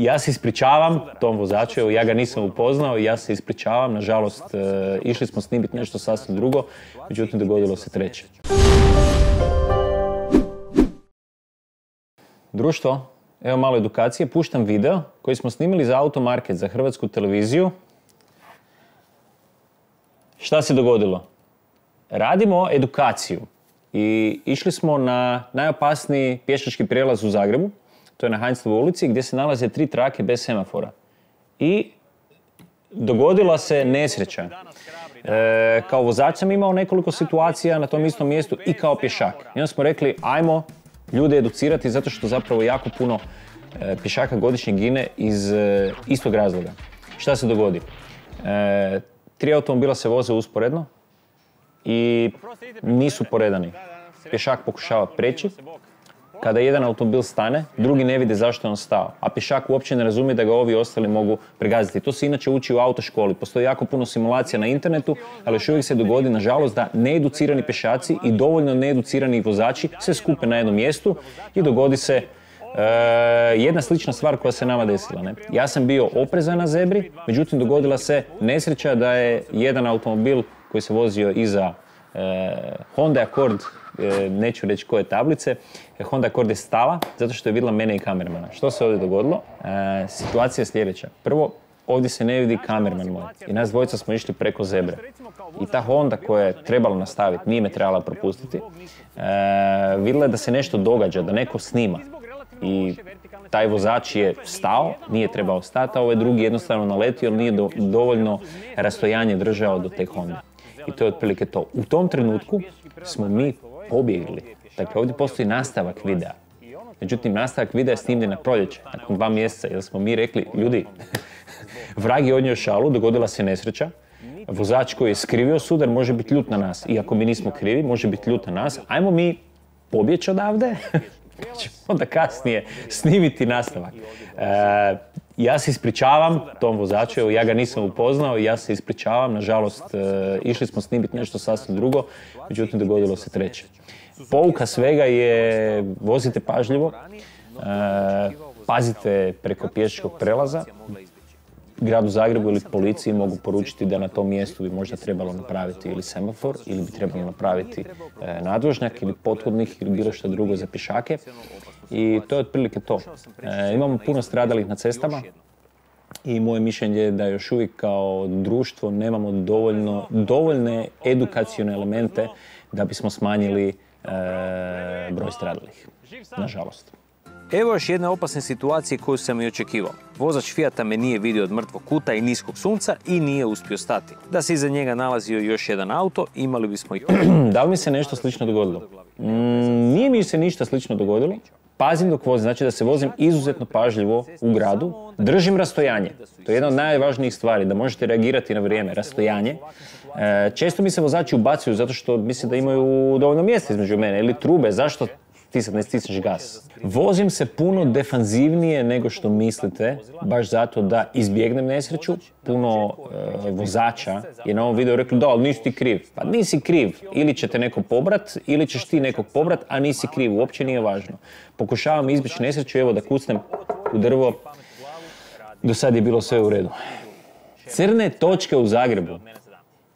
Ja se ispričavam tom vozaču, evo ja ga nisam upoznao i ja se ispričavam. Nažalost, išli smo snimiti nešto sasvim drugo, međutim dogodilo se treće. Društvo, evo malo edukacije, puštam video koji smo snimili za Automarket, za Hrvatsku televiziju. Šta se dogodilo? Radimo edukaciju i išli smo na najopasniji pješački prijelaz u Zagrebu. To je na Heinzlovoj ulici gdje se nalaze 3 trake bez semafora. I dogodila se nesreća. Kao vozač sam imao nekoliko situacija na tom istom mjestu i kao pješak. I onda smo rekli, ajmo ljude educirati zato što zapravo jako puno pješaka godišnje gine iz istog razloga. Šta se dogodi? 3 automobila se voze usporedno i nisu poredani. Pješak pokušava preći. Kada jedan automobil stane, drugi ne vide zašto je on stao, a pješak uopće ne razumije da ga ovi ostali mogu pregaziti. To se inače uči u autoškoli. Postoji jako puno simulacija na internetu, ali još uvijek se dogodi, nažalost, da needucirani pješaci i dovoljno needucirani vozači se skupe na jednom mjestu i dogodi se jedna slična stvar koja se nama desila. Ne? Ja sam bio oprezan na zebri, međutim dogodila se nesreća da je jedan automobil koji se vozio iza Honda Accord, neću reći koje tablice, Honda Accord je stala zato što je vidjela mene i kamermana. Što se ovdje dogodilo? Situacija je sljedeća. Prvo, ovdje se ne vidi kamerman moj i nas dvojica smo išli preko zebre. I ta Honda koja je trebala nastaviti, nije me trebala propustiti, vidjela je da se nešto događa, da neko snima. I taj vozač je stao, nije trebao stati, a ovaj drugi jednostavno naletio jer nije dovoljno rastojanje držao do te Honde. I to je otprilike to. U tom trenutku smo mi pobjegli. Dakle, ovdje postoji nastavak videa. Međutim, nastavak videa je snimljen na proljeće, nakon 2 mjeseca, jer smo mi rekli, ljudi, vrag je odnio šalu, dogodila se nesreća, vozač koji je skrivio sudar može biti ljut na nas. I ako mi nismo krivi, može biti ljut na nas. Ajmo mi pobjeći odavde, pa ćemo onda kasnije snimiti nastavak. Ja se ispričavam tom vozaču, evo ja ga nisam upoznao i ja se ispričavam. Nažalost, išli smo snimiti nešto sasvim drugo, međutim dogodilo se treće. Pouka svega je vozite pažljivo, pazite preko pješačkog prelaza. Gradu Zagrebu ili policiji mogu poručiti da na tom mjestu bi možda trebalo napraviti ili semafor ili bi trebalo napraviti nadvožnjak ili pothodnik ili bilo što drugo za pješake. I to je otprilike to. Imamo puno stradalih na cestama i moje mišljenje je da još uvijek kao društvo nemamo dovoljne edukacione elemente da bismo smanjili broj stradalih, nažalost. Evo još jedne opasne situacije koju sam i očekivao. Vozač Fijata me nije vidio od mrtvog kuta i niskog sunca i nije uspio stati. Da se iza njega nalazio još jedan auto, imali bismo i Da li mi se nešto slično dogodilo? Nije mi se ništa slično dogodilo. Pazim dok vozim, znači da se vozim izuzetno pažljivo u gradu. Držim rastojanje. To je jedna od najvažnijih stvari, da možete reagirati na vrijeme. Rastojanje. Često mi se vozači ubacuju zato što misle da imaju dovoljno mjesta između mene ili trube. Zašto ti sad ne stisneš gas? Vozim se puno defanzivnije nego što mislite, baš zato da izbjegnem nesreću. Puno vozača je na ovom videu rekli da, ali nisi ti kriv. Pa nisi kriv. Ili će te neko pobrat, ili ćeš ti nekog pobrat, a nisi kriv. Uopće nije važno. Pokušavam izbjeći nesreću, evo da kucnem u drvo. Do sad je bilo sve u redu. Crne točke u Zagrebu.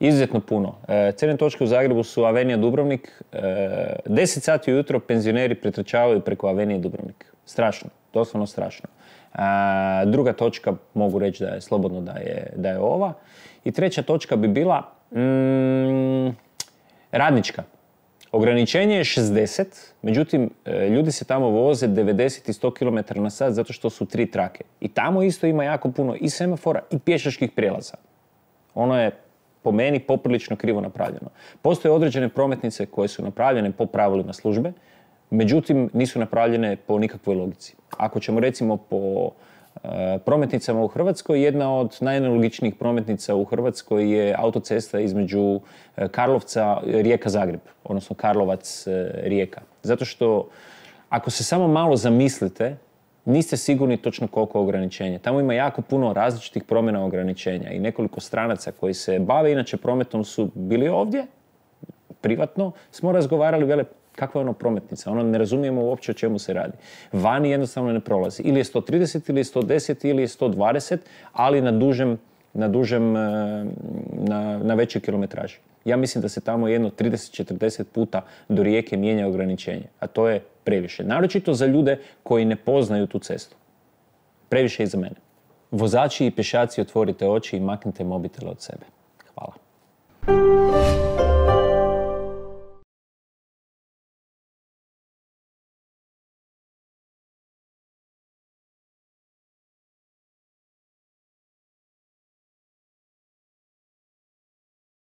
Izuzetno puno. Crne točke u Zagrebu su Avenija Dubrovnik. 10 sati ujutro penzioneri pretrčavaju preko Avenije Dubrovnik. Strašno, doslovno strašno. Druga točka mogu reći da je slobodno da je ova. I treća točka bi bila Radnička. Ograničenje je 60, međutim ljudi se tamo voze 90 i 100 km na sat zato što su 3 trake. I tamo isto ima jako puno i semafora i pješačkih prijelaza. Ono je po meni poprilično krivo napravljeno. Postoje određene prometnice koje su napravljene po pravilima službe, međutim nisu napravljene po nikakvoj logici. Ako ćemo recimo po prometnicama u Hrvatskoj, jedna od najnelogičnijih prometnica u Hrvatskoj je autocesta između Karlovca, Rijeka-Zagreb, odnosno Karlovac-Rijeka. Zato što ako se samo malo zamislite, niste sigurni točno koliko ograničenja. Tamo ima jako puno različitih promjena ograničenja i nekoliko stranaca koji se bave inače prometom su bili ovdje, privatno, smo razgovarali, vele, Kakva je ono prometnica? Ono ne razumijemo uopće o čemu se radi. Vani jednostavno ne prolazi. Ili je 130, ili je 110, ili je 120, ali na većoj kilometraži. Ja mislim da se tamo jedno 30-40 puta do Rijeke mijenja ograničenje. A to je previše. Naročito za ljude koji ne poznaju tu cestu. Previše i za mene. Vozači i pješaci, otvorite oči i maknite mobitele od sebe.